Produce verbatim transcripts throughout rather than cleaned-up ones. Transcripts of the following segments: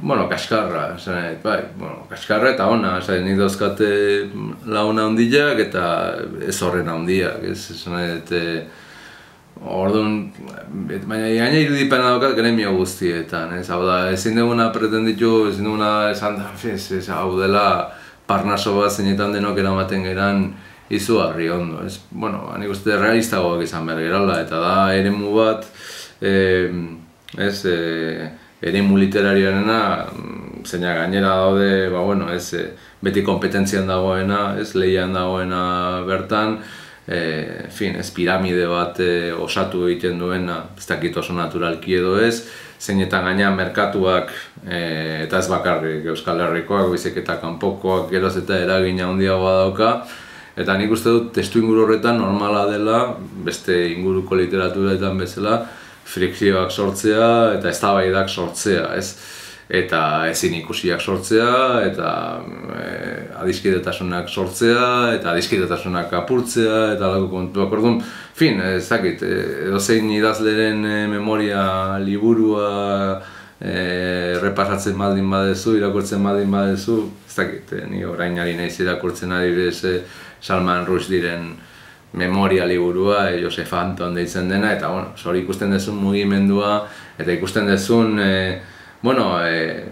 bueno, kaskarra, esan, bai, bueno, kaskarra eta ona, esan, nik dauzkate launa handiak eta ez horren handiak, ez, esan, eta orduan, baina gaina irudipena daukat gremio guztietan, ez, hau da, ezin duguna pretenditu, ezin duguna esan da, ez, ez, hau dela parnaso bat zeinetan denok eramaten geran izugarri ondo, ez, bueno, nik uste realistagoak izan behar gerala, eta da, eremu bat, eh, ez, eh, eremu literarioarena, zeina gainera daude, ba, bueno, ez, beti kompetentzian dagoena, ez, lehian dagoena bertan, e, en fin, ez piramide bat e, osatu egiten duena, ez dakit oso naturalki edo ez, zeinetan gaina merkatuak, e, eta ez bakarrik Euskal Herrikoak, baizik eta kanpokoak geroz eta eragina handiagoa dauka, eta nik uste dut testuinguru horretan normala dela, beste inguruko literaturetan bezala, frikzioak sortzea eta eztabaidak sortzea, ez? Eta ezin ikusiak sortzea, eta e, adiskidetasunak sortzea, eta adiskidetasunak apurtzea, eta alako kontuak. Orduan, fin, ez dakit, edozein idazleren e, memoria liburua e, repasatzen baldin badezu, irakurtzen baldin badezu, ez dakit, e, ni orain ari naiz irakurtzen adibidez e, Salman Rushdieren memoria liburua, e, Joseph Anton deitzen dena, eta bueno, hori ikusten dezun mugimendua, eta ikusten dezun, e, bueno, e,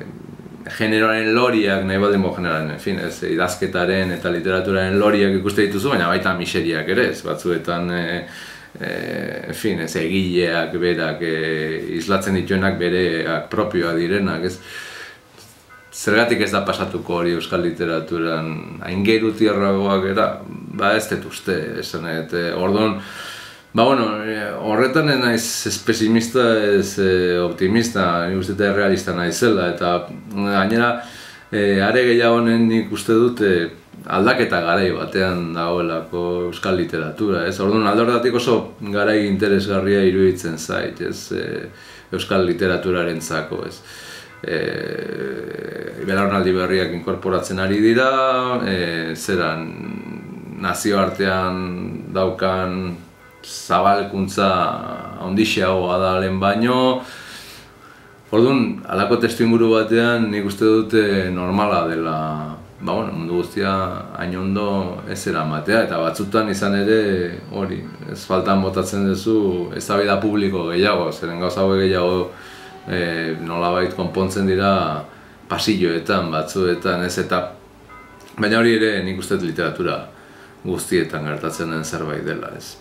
generoaren loriak, nahi baldin bo generoaren, en fin, ez, idazketaren eta literaturaren loriak ikuste dituzu, baina baita miseriak ere, ez, batzuetan, e, e, en fin, ez, egileak berak, e, islatzen dituenak bereak propioa direnak, ez. Zergatik ez da pasatuko hori euskal literaturan aingeru tierragoak era, ba ez dut uste, esan, eta orduan, ba bueno, horretan ez naiz ez pesimista, ez optimista, nik uste eta realista naizela, eta gainera, e, are gehiago honen nik uste dut e, aldaketa garai batean dagoelako euskal literatura, ez? Orduan alde horretatik oso garai interesgarria iruditzen zait, ez? E, euskal literaturarentzako, ez? E, belaunaldi berriak inkorporatzen ari dira, e, zeran nazioartean daukan zabalkuntza handiagoa da lehen baino. Orduan, halako testuinguru batean nik uste dute normala dela, ba, bueno, mundu guztia hain ondo ez eramatea, eta batzutan izan ere hori, ez faltan botatzen duzu eztabaida publiko gehiago, zeren gauza hauek gehiago e, nolabait konpontzen dira pasilloetan, batzuetan, ez, eta baina hori ere nik uste dut literatura guztietan gertatzen den zerbait dela, ez.